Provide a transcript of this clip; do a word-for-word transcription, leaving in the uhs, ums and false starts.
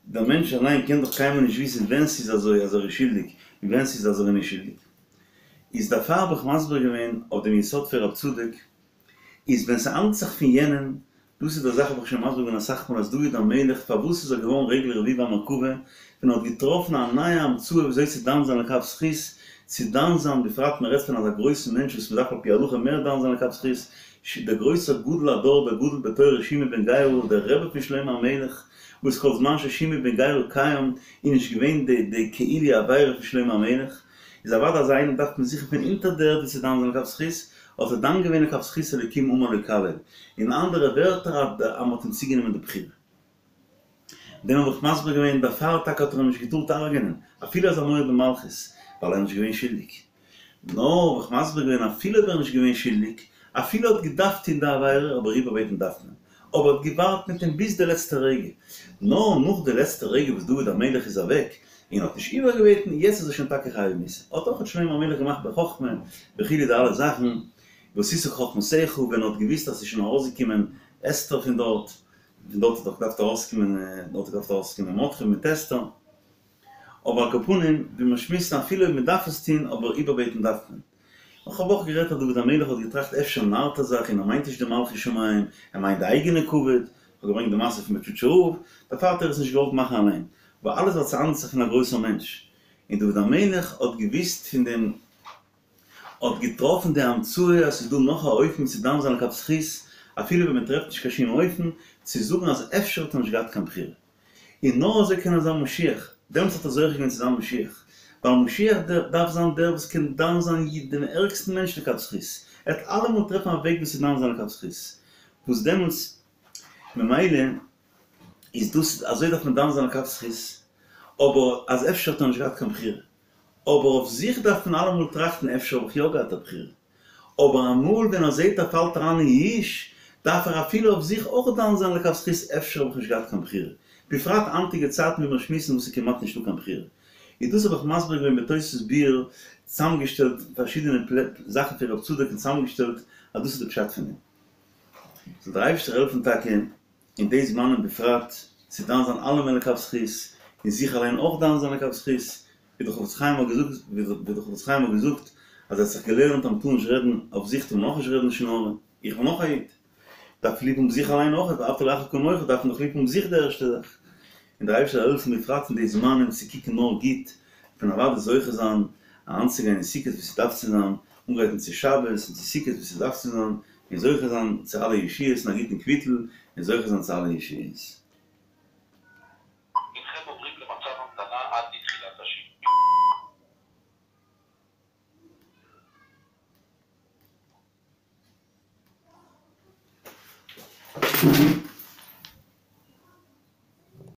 דער מענטש אליין קען דאך קיינמאל נישט וויסן ווען ס'איז אזוי אז ער איז שולדיג און ווען ס'איז אז ער איז נישט שולדיג. איז דערפאר האב איך מסביר געווען אויף דעם יסוד פון רב צדוק, איז ווען ס'האנדלט זיך פון יענעם, דאס איז די זאך האב איך שוין מסביר געווען אסאך מאל אז דוד המלך פארוואס איז ער געווארן רגל רביעי במרכבה ווען ער האט געטראפן א נייע המצאה וויאזוי צו דן זיין לכף זכות, צו דן זיין בפרט מען רעדט פון אזא גרויסן מענטש וואס מען דארף על פי הלכה מער דן זיין לכף זכות, דער גרויסער גדול הדור דער גדול בתורה שמעי בן גרא דער רבי פון שלמה המלך וואס כל זמן ששמעי בן גרא קיים איז נישט געווען די די כאילו עבירה פון שלמה המלך, איז אוודאי אזא איינעם דארף מען זוכן פון אונטער די ערד ווי צו דן זיין לכף זכות, האט ער דן געווען לכף זכות אלוקים אמר לו קלל, אין אנדערע ווערטער אז מען האט אים צוגענומען די בחירה. דעם האב איך מסביר געווען, דערפאר טאקע האט ער אים נישט געטארט הרג'ענען, אפילו אז א מורד במלכות, ווייל ער איז נישט געווען שולדיג. נאר האב איך מסביר געווען אפילו אויב ער איז נישט געווען שולדיג, אפילו ער האט געדארפט טון די עבירה, אבער איבערבעטן דארף מען. אבער ער האט געווארט מיט אים ביז די לעצטע רגע. נאר נאך די לעצטע רגע וואס דוד המלך איז אוועק, און האט נישט איבערגעבעטן, יעצט איז ער שוין טאקע חייב מיתה. האט אויך שלמה המלך געמאכט בחכמה וכו' די אלע זאכן, ועשית כחכמתך, ווען ער האט געוואוסט אז ס'איז שוין ארויסגעקומען אסתר פון דארט, פון דארט האט דאך געדארפט ארויסקומען, דארט האט געדארפט ארויסקומען מרדכי מיט אסתר. אבער על כל פנים, ווי מיר שמועסן אפילו אויב מען דארף עס טון, אבער איבערבעטן דארף מען. איך האב אויך גערעדט אז דוד המלך האט געטראכט אפשר נארט ער זיך און ער מיינט נישט די מלכות שמים, ער מיינט די אייגענע כבוד, איך האב געברענגט די מעשה פון בוטשאטשער רב, דערפאר האט ער עס נישט געוואלט מאכן אליין, אבער אלעס ווייל ס'האנדלט זיך פון א גרויסער מענטש, און דוד המלך האט געוואוסט פון דעם, האט געטראפן די המצאה אז ס'איז דא נאך א אופן צו דן זיין לכף זכות, אפילו ווען מ'טרעפט נישט קיין שום אופן, צו זאגן אז אפשר האט ער נישט געהאט קיין בחירה. און נאר אזוי קען ער זיין משיח, דעמאלטס האט ער זוכה געווען צו זיין משיח, ווייל משיח דארף זיין דער וואס קען דן זיין דעם ערגסטן מענטש לכף זכות, ער וועט אלעמאל טרעפן א וועג ווי צו דן זיין לכף זכות, וואס דעמאלטס ממילא איז דאס אזוי דארף מען דן זיין לכף זכות, אבער אז אפשר האט ער נישט געהאט קיין בחירה, אבער אויף זיך דארף מען אלעמאל טראכטן אפשר האב איך יא געהאט א בחירה, אבער אמאל ווען ער זעט ער פאלט אריין אין יאוש, דארף ער אפילו אויף זיך אויך דן זיין לכף זכות אפשר האב איך נישט געהאט קיין בחירה, בפרט היינטיגע צייטן ווי מיר שמועסן וואס איז כמעט נישטא קיין בחירה. איז דאס האב איך מסביר געווען בתוספות ביאור, צוזאמגעשטעלט פארשידענע זאכן פון רב צדוק און צוזאמגעשטעלט אז דאס איז די פשט פון דעם. זאל דער אייבערשטער העלפן טאקע אין די זמנים בפרט צו דן זיין אלעמען לכף זכות, און זיך אליין אויך דן זיין לכף זכות, ווי דער חפץ חיים האט געזאגט, ווי דער חפץ חיים האט געזאגט אז ער האט זיך געלערנט אז מ'טאר נישט רעדן אויף זיך טאר מען אויך נישט רעדן לשון הרע, איך בין אויך א איד, דארף ליב האבן זיך אליין אויך, ואהבת לרעך כמוך דארף מען דאך ליב האבן זיך די ערשטע זאך, און דער אייבערשטער זאל העלפן בפרט אין די זמנים צו קוקן נאר גוט, און אוודאי זוכה זיין אריינצוגיין אין סוכות ווי ס'דארף צו זיין, אנגרייטן צו שבת און צו סוכות ווי ס'דארף צו זיין, און זוכה זיין צו אלע ישועות און א גוטן קוויטל, און זוכה זיין צו אלע ישועות. הנכם עוברים למצב המתנה עד לתחילת השיעור.